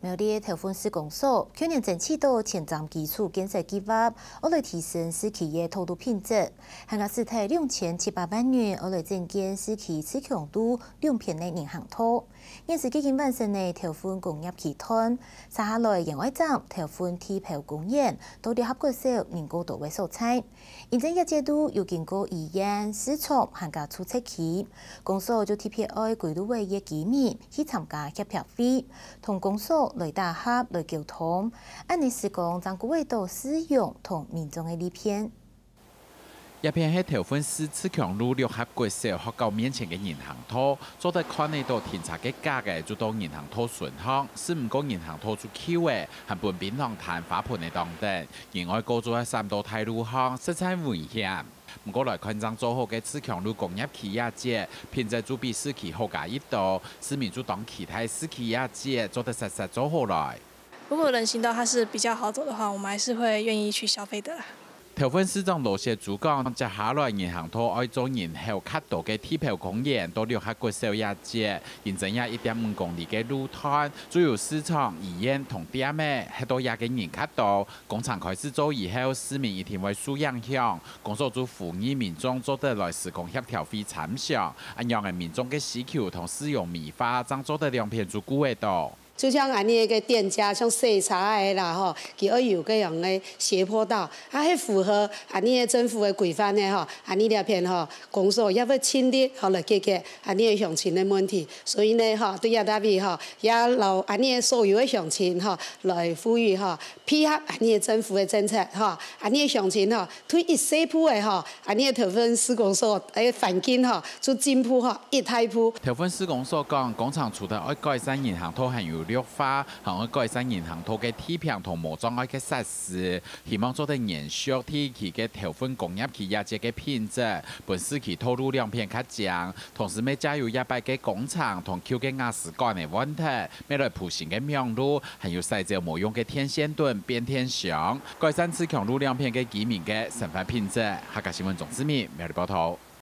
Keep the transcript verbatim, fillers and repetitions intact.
苗栗頭份施工所去年爭取到前瞻基礎建設計畫，愛來提升市區个道路品質，還加使忒兩千七百萬元，愛來整建市區自強路兩片个人行道。現時已經完成个頭份工業區段，接下來園藝站頭份地拋公園到六合國小人過多个所在。 因為這節路有經過醫院、市場還加住宅區，公所就特別愛歸路尾个居民去參加協調會，同公所來打合來溝通，恁呢施工正顧會到使用同民眾个利便。這片係頭份市自強路六合國小學校面前个人行道，做得看得到停車个格仔就到人行道脣項，使毋過人行道就舊仔，還分檳榔攤花盆个當等，人愛過就愛閃到大路項，實在危險。 毋過來看正做好个自強路工業區這節，品質就比市區好加一到，市民就當期待市區這節做得煞煞做好來。如果人行道它是比較好走的話，我们还是会愿意去消费的啦。頭份市長羅雪珠講，接下來人行道愛做人口較多个地拋公園到六合國小這節，因為這一點五公里个路段，就有市場、醫院同店仔，係到這个人較多。工程開始做以後，市民一定會受影響。 公所就呼籲民眾做得來施工協調會參詳，恁樣个民眾个需求同使用美化，正做得兩片就顧得到。就像恁呢个店家，像洗車个啦吼，佢愛有个樣个斜坡道，啊，係符合恁呢个政府个規範个吼，恁呢這片吼，公所也會盡力吼來解決恁呢个鄉親个問題。所以呢吼，對這搭位吼，也摎恁呢个所有个鄉親吼來呼籲吼，配合恁呢个政府个政策吼，恁呢个鄉親吼， 退一細步仔吼，恁呢頭份施工所个環境吼，就進步吼一大步。頭份施工所講，工程除忒愛改善人行道還有綠化，還愛改善人行道个地坪同無障礙个設施，希望做得延續第一期个頭份工業區這節个品質，分市區道路兩片較靚。同時，乜藉由這擺个工程同舊个瓦斯管个換忒，乜來鋪新个網路，還有徙走無用个電線等變電箱。 改善自強路兩片个居民个生活品質。客家新聞鍾志明，苗栗報導。